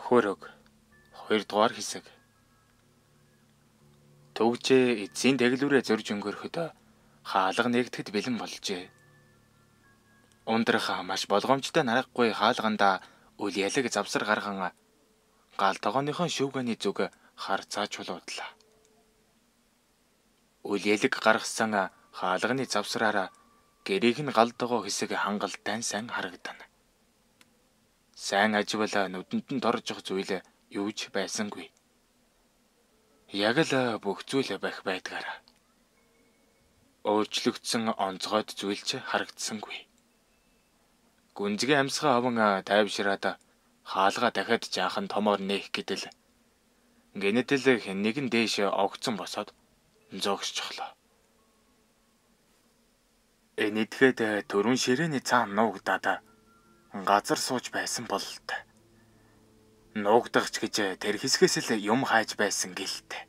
Хөрөг 2 дугаар хэсэг. Төгжээ эцсийн дэглүүрээ зөрж өнгөрөхөд хаалга нэгдэхэд бэлэн болжээ. Ундрах маш болгоомжтой нарахгүй хаалганда үл ялэг завсар гарган гал тогооныхон шүүгэний зүг харцаа чулуудлаа. Үл ялэг гаргасан хаалганы завсраараа гэрийг нь гал тогоо хэсэг хангалттай сайн харагдана. Сайн аживал нүдэнд нь доржих зүйл юу ч байсангүй. Яг л бүх зүйл байх байдгаараа. Өөрчлөгдсөн онцгойд зүйл ч харагдсангүй. Гүнзгий амьсгаа аван тайвшираад хаалга дахиад жаахан томоор нээх гэдэл гэнэтэл нэг нь дээш огцсон босоод зогсчихлоо. Энэтгэхэд төрүн ширээний цаан нуугдаад газар сууж байсан бололтой. Нуугдагч гэж тэр хэсгээс л юм хайж байсан гэлтэй.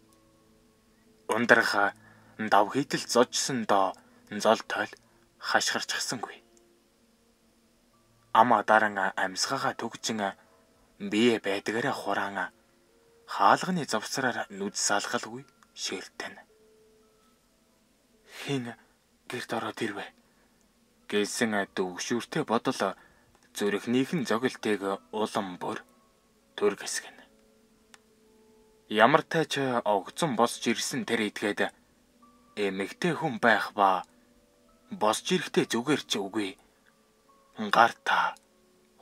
Ундрах дав хийтэл зожсон доо зол тойл хашгирчсангүй. Ама даран амьсгаагаа төгжин бие байдгаараа хураан хаалганы завсраар нүд салгалгүй ширтэн. Хин гэрт ороод ирвэ гэсэн дөвшүүртэй бодол зүрхнийхэн зогилтыг улам бүр төр гэсгэн. Ямар тач огцон босч ирсэн тэр идгээд эмэгтэй хүн байх ба босч ирэхдээ зүгээр ч үгүй гарта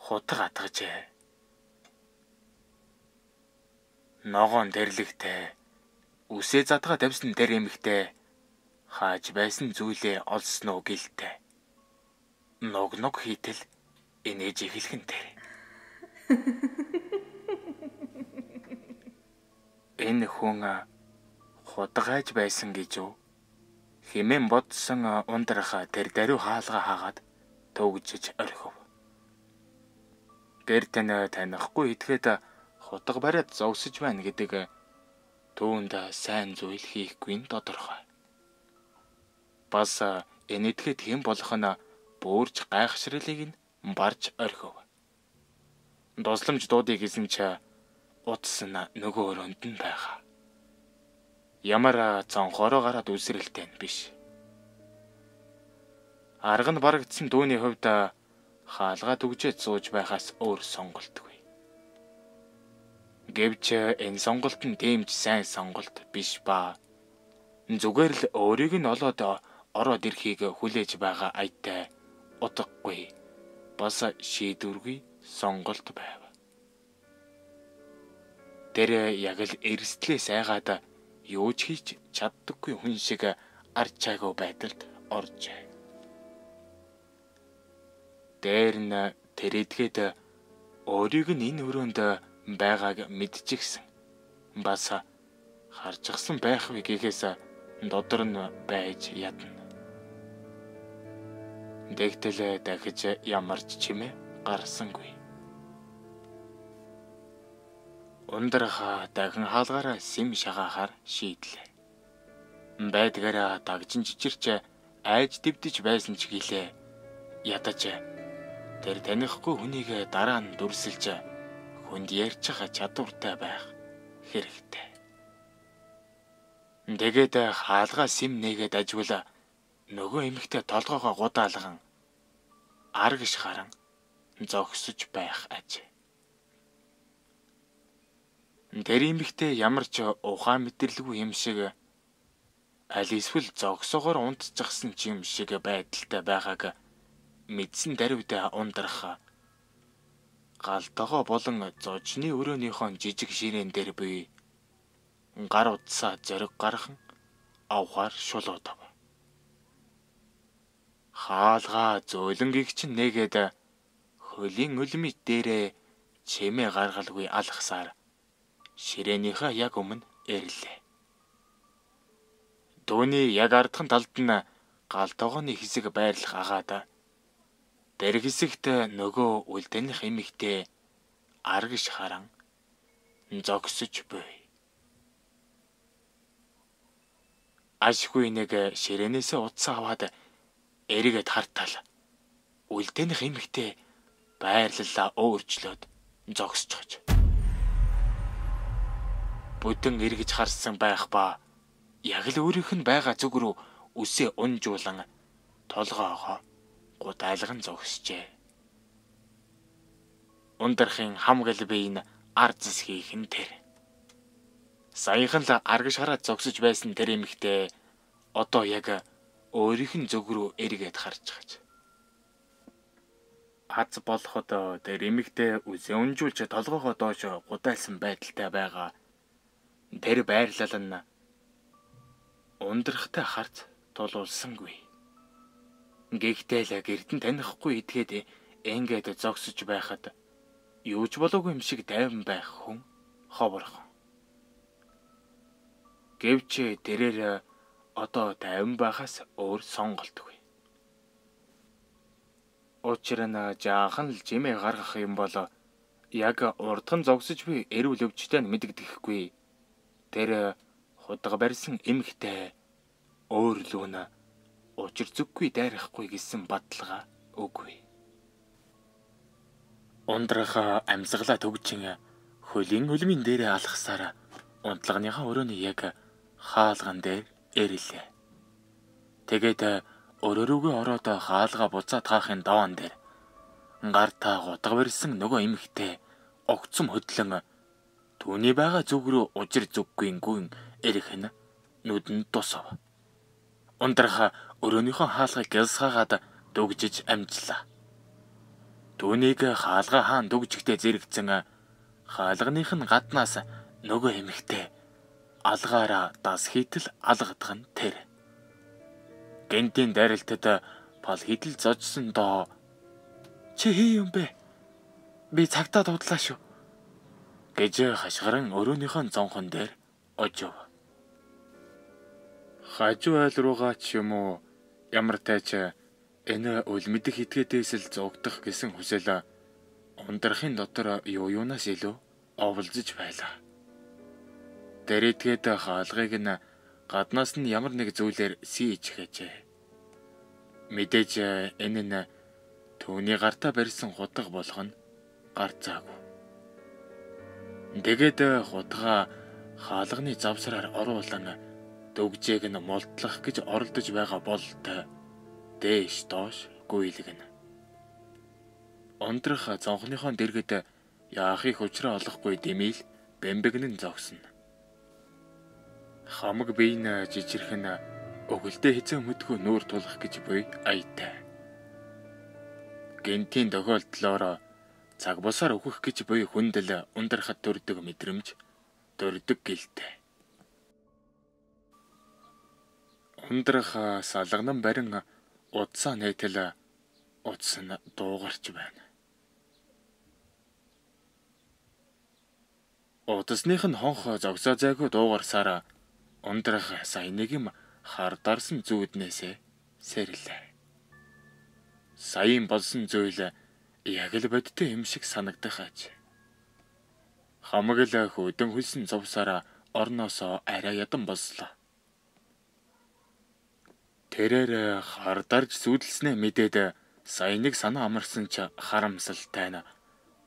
хутга атгажээ. Ногоон дэрлэгтэй үсээ задгаа тавьсан тэр эмэгтэй хааж байсан зүйлээ олсноо гэлтэй. Ног хийтэл инээж эхлэх нь тэр. Энэ хүн хутгайж байсан гэж үү? Хэмээн бодсон ундрах тэр даруй хаалга хаагаад төгжиж орхив. Гэрт нь танихгүй итгэхэд хутга бариад зогсож байна гэдэг түүнд сайн зүйл хийхгүй нь тодорхой. Бас энэтгэхэд хэн болох нь бүурж гайхшралыг нь барж орхив. Досламж дуудыг гэсэн ч утас нь нөгөө өрөөнд нь байгаа. Ямар цонхороо гараад үсрэлтэй нь биш. Арга нь барагдсан дүүний хувьд хаалгаа төгжээд сууж байхаас өөр сонголтгүй. Гэвч энэ сонголт нь дэмж сайн сонголт биш ба зүгээр л өөрийг нь олоод ороод ирэхийг хүлээж байгаа айтай утгагүй бас шийдвэргүй сонголт байв. Тэр яг л эрсдлээс айгаад юу ч хийж чаддаггүй хүн шиг арч чайгүй байдалд оржээ. Дээр нь тэр эдгээд өөрийг нь энэ өрөөнд байгааг мэдчихсэн. Бас харжсан байх вэ гэхээс додор нь байж ядна. Дэгтэл дахиж ямар ч чимээ гарсангүй. Ундрах дахин хаалгаараа сэм шагаахаар шийдлээ. Байдгаараа дагжин жичирч айж дэвдэж байсан ч гэлээ ядаж тэр танихгүй хүнийг дараа нь дүрсэлж хүнд ярьчих чадвартай байх хэрэгтэй. Тэгээд хаалгаа сэм нээгээд ажвал нөгөө эмэгтэй толгоогоо гудаалган аргиш харан зогсож байх аж. Тэр эмэгтэй ямар ч ухаан мэдэрлгүй юм шиг аль эсвэл зогсоогоор унтчихсан ч юм шиг байдалтай байгааг мэдсэн даруйд ундрах гал тогоо болон зожны өрөөнийхон жижиг ширээн дээр буй гар утсаа зориг гархан авахар шулуудав. Хаалгаа зөөлөн гихчин нээгээд хөлийн өлмөт дээрээ чимээ гаргалгүй алхасаар ширээнийхээ яг өмнө ирлээ. Дүүний яг ардхан талд нь гал тогооны хэсэг байрлах агаад тэр хэсэгт нөгөө үлдэнэх эмэгтэй аргиш харан зогсож буй. Ашгүй нэг ширээнээс утсаа аваад эргээд хартал үлдэнэх эмэгтэй байрлалаа өөрчлөөд зогсчихж. бүдэн эргэж харсан байх ба яг л өөрийнх нь байгаа зүг рүү үсээ унжуулан толгоогоо гудайлган зогсжээ. Ундрахын хамгал биеийн ард зэсхийх нь тэр. Саяхан л аргаш хараад зогсож байсан тэр эмэгтэй одоо яг өөрийнх нь зүг рүү эргээд харж байгаа. Аз болоход тэр эмэгтэй үсээ унжуулж толгоогоо доош гудайлсан байдалтай байгаа. Тэр байрлал нь ундрахтай харц тулуулсангүй. Гэхдээ л гэртэн танихгүй идгээд ингээд зогсож байхад юу ч болоогүй юм шиг тайван байх хүн ховорхон. Гэвч тэрээр одоо тайван байхаас өөр сонголтгүй. Учир нь жаахан л жимээ гаргах юм бол яг урдхан зогсож буй эрүүл өвчтэй нь мэддэхгүй. Тэр хутга барьсан эмэгтэй өөр лүүн учир зүггүй дайрахгүй гэсэн баталгаа үгүй. Ундрах амьсгалаа төгжин хөлийн үлмийн дээрээ алхасаар унтлагныхаа өрөөний яг хаалган дээр эрэлээ. Тэгээд өрөө рүүгээ ороод хаалгаа буцаад хаахын даваан дээр гартаа гутга барьсан нөгөө эмэгтэй огцом хөдлөн түүний байгаа зүг рүү учир зүггүй гүн эрэх нь нүдэнд тусав. Ундрах өрөөнийхөө хаалгыг гялсгаагаад дүгжиж амжлаа. Түүнийг хаалга хаан дүгжихтэй зэрэгцэн хаалганых нь гаднаас нөгөө эмэгтэй алгаараа дас хийтэл алгадах нь тэр. Гэнтийн дайралтад пал хідэл зожсон доо. Чи хий юм бэ? Би цагтаа дудлаа шүү. Гэж хашгиран өрөөнийхөө зонхон дээр очив. Хажуу айл руугаа ч юм уу ямар тайч энэ үлмэдэх этгээдээс л зогдох гэсэн хүсэл ундрахын дотор юунаас илүү оволзож байлаа. Тэр этгээд хаалгыг нь гаднаас нь ямар нэг зүйлээр сийж хэжээ. Мэдээж энэ нь түүний гартаа барьсан хутга болох нь гарцаагүй. Тэгээд хутгаа хаалганы завсраар оруулан дүгжээг нь молдлох гэж оролдож байгаа бололтой дээш доош гүйлгэнэ. Ундрах зонхныхоо дэргэд яахыг учраа олохгүй дэмийл бэмбэгнэн зогсно. Хамаг биеийн жижирхэн өгөлдөө хэзээ мэдгүй нүүр тулах гэж буй аятай. Гэнтийн тохиолдлоор цаг бусаар өгөх гэж буй хүндэл ундрахад төрдөг мэдрэмж төрдөг гэлтэй. Ундрах салганан барин удсаа нээтэл удс нь дуугарч байна. Удасных нь хонх зогсоо зайгүй дуугарсаар ундрах сая нэг юм хардарсан зүүднээсээ сэрлээ. Саяын болсон зүйл яг л бодтой юм шиг санагдах аж. Хамаг л хөдөн хөлсөн зовсаараа орноосоо арай ядан болслоо. Тэрээр хардарж сүйдэлснээ мэдээд сая нэг санаа амарсан ч харамсалтай нь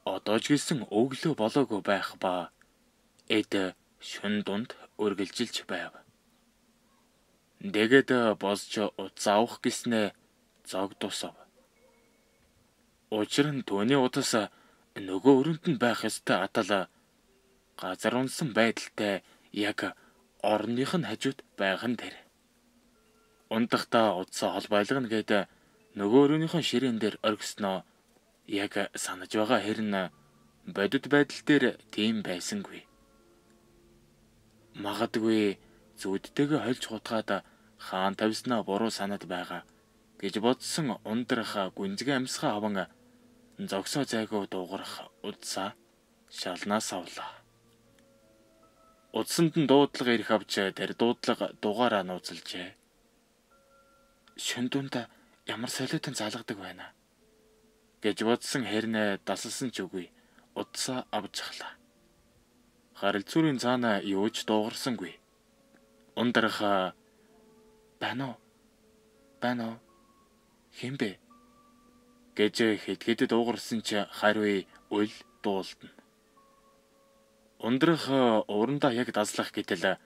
одоо ч гэсэн өглөө болоогүй байх ба эд шүн дунд үргэлжилж байв. Тэгээд босч утас авах гэснээ зог тусав. Учир нь түүний утас нөгөө өрөнд нь байх ёстой атал газар унсан байдалтай яг орных нь хажууд байх нь тэр. Унтахтаа утсаа холбойлгоно гээд нөгөө өрөөнийхөө ширээн дээр оргисноо яг санаж байгаа хэрнээ бодит байдал дээр тийм байсангүй. Магадгүй зүудтэйгээ хольж хутгаад хаан тавьснаа буруу санаад байгаа гэж бодсон ундрах гүнзгий амьсгаа аван зогсоо зайгүй дуугарах удсаа шалнаас авлаа. Удсанд нь дуудлага ирэх авч тэр дуудлага дугаараа нууцлжээ. Шүн дунд ямар солиотон залгадаг байна гэж бодсон хэрнээ дасалсан ч үгүй удсаа авч ахлаа. Харилцуурын цаана юу ч дуугарсангүй. Ундрах байна уу хэмбэ гэж хэд дуугарсан ч хариу үл дуулдана. Ундрах урандаа яг даслах гэтэл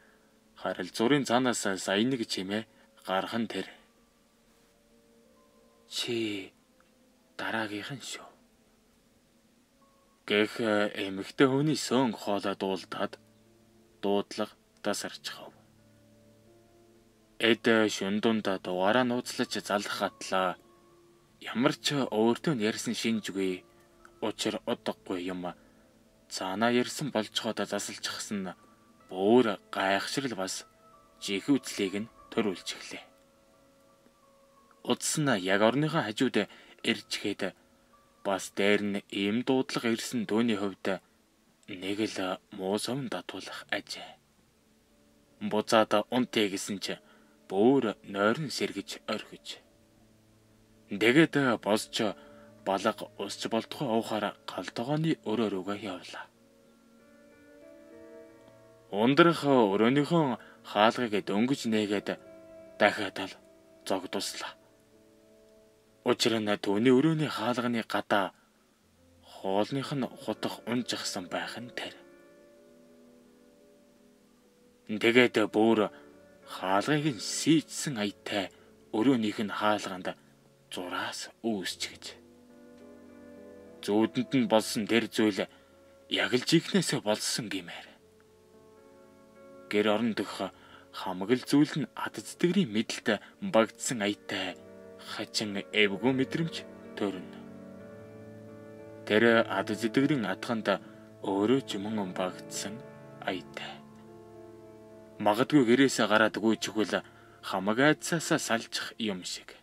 харилцуурын цаанаас сая нэг чимээ гархан тэр. Чи дараагийнх нь шүү. Гэх эмэгтэй хүний сөн хоолой дуулдаад дуудлага тасарчхав. Эд шүндунд дугаараа нууцлаж залах хатлаа. Ямар ч өөртөө ярьсан шинжгүй учир удахгүй юм. Цаанаа ярьсан болцоход засалчихсан бүр гайхшрал бас жихүүцлийг нь төрүүлж эхлэв. Удас нь яг орныхоо хажууд ирчгээд бас дээр нь ийм дуудлага ирсэн дөөний хувьд нэг л муу сум татуулах ажээ. Буцаад унтъя гэсэн чи бүр нойрон сэргэж орхиж. Тэгээд босч балга усч болтгой уухаар галтгооны өрөө рүүгээ явлаа. Ундрах өрөөнийхөө хаалгыг дөнгөж нээгээд дахиад л зогдуслаа. Учир нь түүний өрөөний хаалганы гадаа хоолных нь хутах унжихсан байх нь тэр. Тэгээд бүр хаалгыг нь сийдсэн аятай өрөөнийх нь хаалганд зураас үүсч гэж. Зүүдэнд нь болсон тэр зүйл яг л жихнээсээ болсон гэмээр. Гэр орон дөх хамаг л зүйл нь ад зэтгэрийн мэдлэлд багдсан аятай хачин эвгүй мэдрэмж төрнө. Тэр ад зэтгэрийн атганд өөрөө ч мөн багдсан аятай. Магадгүй гэрээсээ гараад гүйчихвэл хамаг айдсаасаа салчих юм шиг.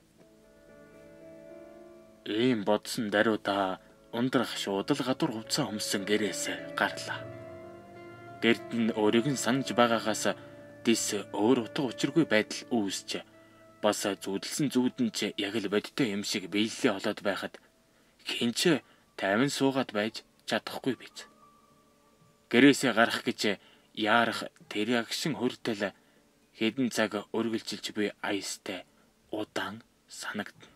Ийм бодсон даруйда ундрах шууд л гадуур хувцас өмсөн гэрээсээ гарлаа. Гэрд нь өөрийг нь санаж байгаагаас дис өөр утга учиргүй байдал үүсч бас зүудэлсэн зүудэн ч яг л бодтой юм шиг биелэлээ олоод байхад хинч тайван суугаад байж чадахгүй биз. Гэрээсээ гарах гэж яарах тэр агшин хүртэл хэдэн цаг өргөлжилж буй аястай удаан санагдана.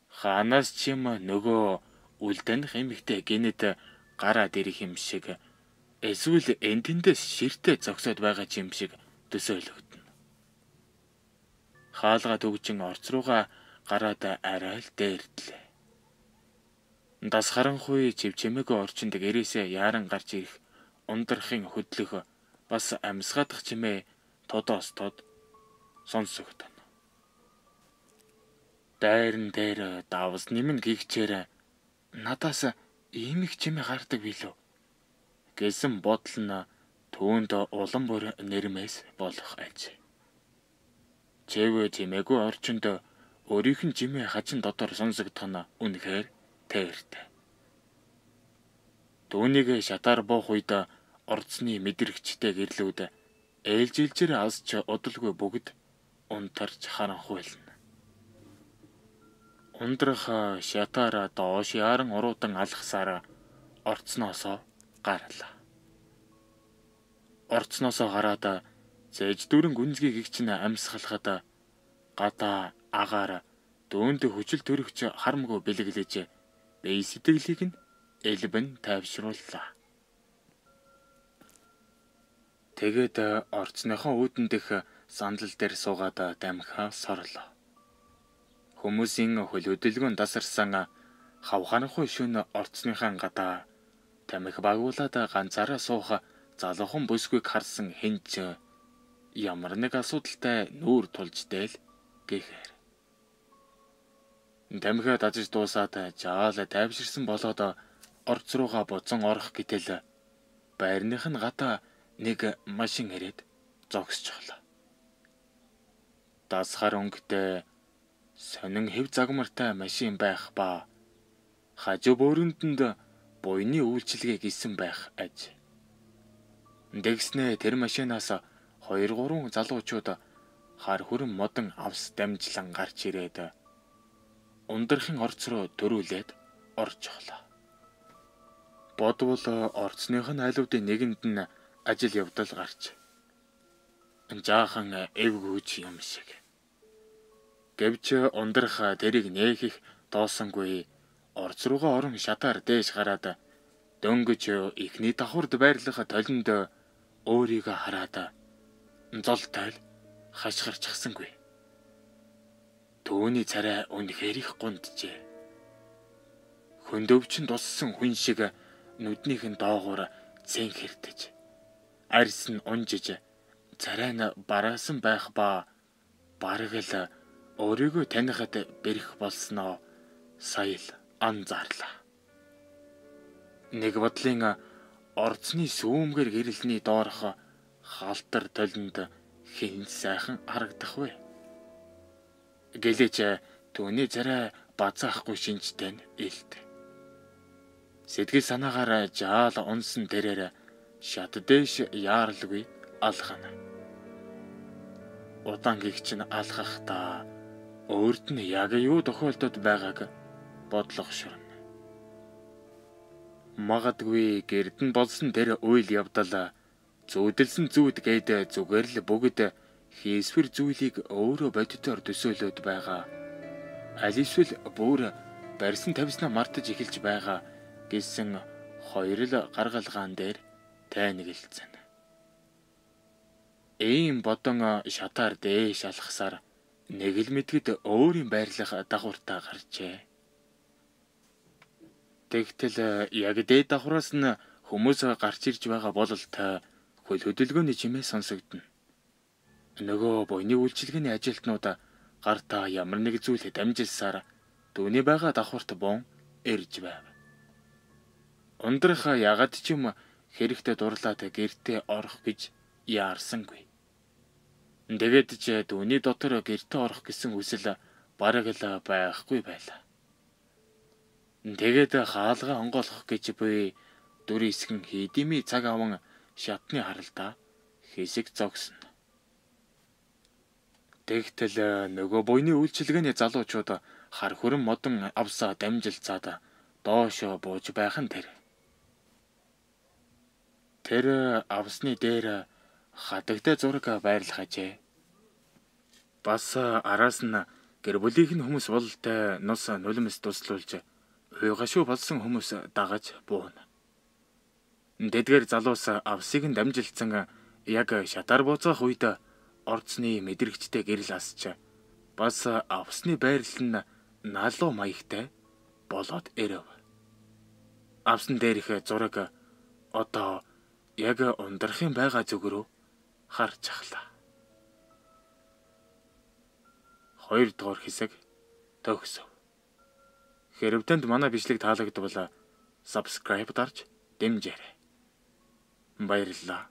Ханаас ч юм нөгөө үлдэнх эмэгтэй гинэд гараад ирэх юм шиг эсвэл энтэндээс ширтээ зогсоод байгаа юм шиг төсөөлөгдөнө. Хаалга төгжин орц руугаа гараад арай л дээрдлээ. Дас харанхуй чивчмэгийн орчинд гэрээсээ яаран гарч ирэх ундрахын хөдлөх бас амьсгаадах чимээ тодоос тод сонсогдоно. Дайрн дээр давс нэмэн гихчээр надаас ийм их чимээ гардаг билүү гэсэн бодол нь түүнд улам бүр нэрмээс болох аж. Чэвэ чимээгүй орчинд өөрийнх нь чимээ хачин дотор сонсогдох нь үнэхээр тээртэй. Түүнийг шатаар буух үед орцны мэдрэгчтэй гэрлүүд ээлжилжээр асч удалгүй бүгд унтарч харанхуйлна. Ундрах шатаараа доош яран уруудан алхасаар орцноосоо гарлаа. Орцноосоо гараад зээж дүүрэн гүнзгий гихчин амьсгалахад гадаа агаар дөөнд хүчил төрөгч харамгүй бэлэглэж бие сэтгэлийг нь элбэн тайвшрууллаа. Тэгээд орцныхоо үүдэн дэх сандал дээр суугаад дамхаа сорлоо. Хүмүүсийн хөл хөдөлгөөн тасарсан хавханхуй шөнө орцныхаа гадаа тамхи багуулаад ганцаараа суух залуухан бүсгүйг харсан хинч ямар нэг асуудалтай нүүр тулж дээл гэхээр. Тамхиа дажиж дуусаад жаал тайвширсан болоод орц руугаа буцан орох гэтэл байрных нь гадаа нэг машин ирээд зогсчихлоо. Дасхар өнгөтэй сонин хэв загмартай машин байх ба хажуу бөөрөндөнд буйны үйлчилгээ гисэн байх аж. Дэгснээ тэр машинаас 2-3 залуучууд хар хүрэн модон авс дамжлан гарч ирээд ундрахын орц руу дөрүүлээд орчихлоо. Бодвол орцных нь айлуудын нэгэнд нь ажил явдал гарч жаахан эвгүүч юм шиг. Гэвч ундрах тэрийг нээх их доосонгүй орц руугаа орон шатаар дээш гараад Дөнгөж ихний давхард байрлах толинд өөрийгөө хараад зол тойл хашгирчсангүй. Төвний царай үнэхээр их гунджээ. Хөндөвчин туссан хүн шиг нүднийхэн доогуур цэн хэрдэж, арьс нь унжиж, царай нь бараасан байх ба бараг л өөрийгөө танихад бэрх болсноо сая л анзаарлаа. Нэг бодлын орцны сүүмгэр гэрэлний доорх халтар толинд хэн сайхан харагдах вэ? Гэлэж түүний царай базаахгүй шинжтэй нь илт. Сэтгэл санаагаар жаал унсан тэрээр шат дэш яарлгүй алхана. Удаан гихч нь алхахдаа өөрт нь яг юу тохиолдод байгааг бодлого ширнэ. Магадгүй гэрдэн болсон тэр үйл явдал зүүдэлсэн зүүд гээд зүгээр л бүгд хийсвэр зүйлийг өөрөө бодитоор төсөөлөд байгаа. Аль эсвэл бүр барьсан тавьснаа мартаж эхэлж байгаа гэсэн хоёр л гаргалгаан дээр тайнаглцсан. Ийм бодон шатаар дээш алхасаар нэг л мэдгэд өөрийн байрлах дагавартаа гарчээ. Тэгтэл яг дээд давхраас нь хүмүүс гарч ирж байгаа бололт хөл хөдөлгөөний чимээ сонсогдно. Нөгөө буйны үйлчилгээний ажилтнууд гартаа ямар нэг зүйл дамжилсаар түүний байгаа давхарт бон ирж байв. Ундрах ягаад ч юм хэрэгтэй дурлаад гэртээ орох гэж яарсангүй. Тэгээд ч түүний дотор гэртээ орох гэсэн хүсэл бараг л байхгүй байлаа. Тэгээд хаалгаа онгойлгох гэж буй дүрийн эсгэн хийдимий цаг аван шатны харалтаа хэсэг зогсно. Тэгтэл нөгөө буйны үйлчилгээний залуучууд хар хүрэн модон авсаа дамжилцаад доошо бууж байх нь тэр. Тэр авсны дээр хадагтай зураг байрлах ажээ. Бас араас нь гэр бүлийнх нь хүмүүс бололтой нус нулимс туслуулж уйгашуу болсон хүмүүс дагаж бууна. Дэдгээр залуус авсыг нь дамжилцсан яг шатаар бууцах үед орцны мэдрэгчтэй гэрэл асч бас авсны байрлал нь налуу маягтай болоод ирэв. Авсан дээрх зураг одоо яг ундрахын байгаа зүг рүү харж ахлаа. 2 дугаар хэсэг төгсөв. Хэрв танд манай бичлэг таалагдвал subscribe дарж дэмжээрэй. Баярлалаа.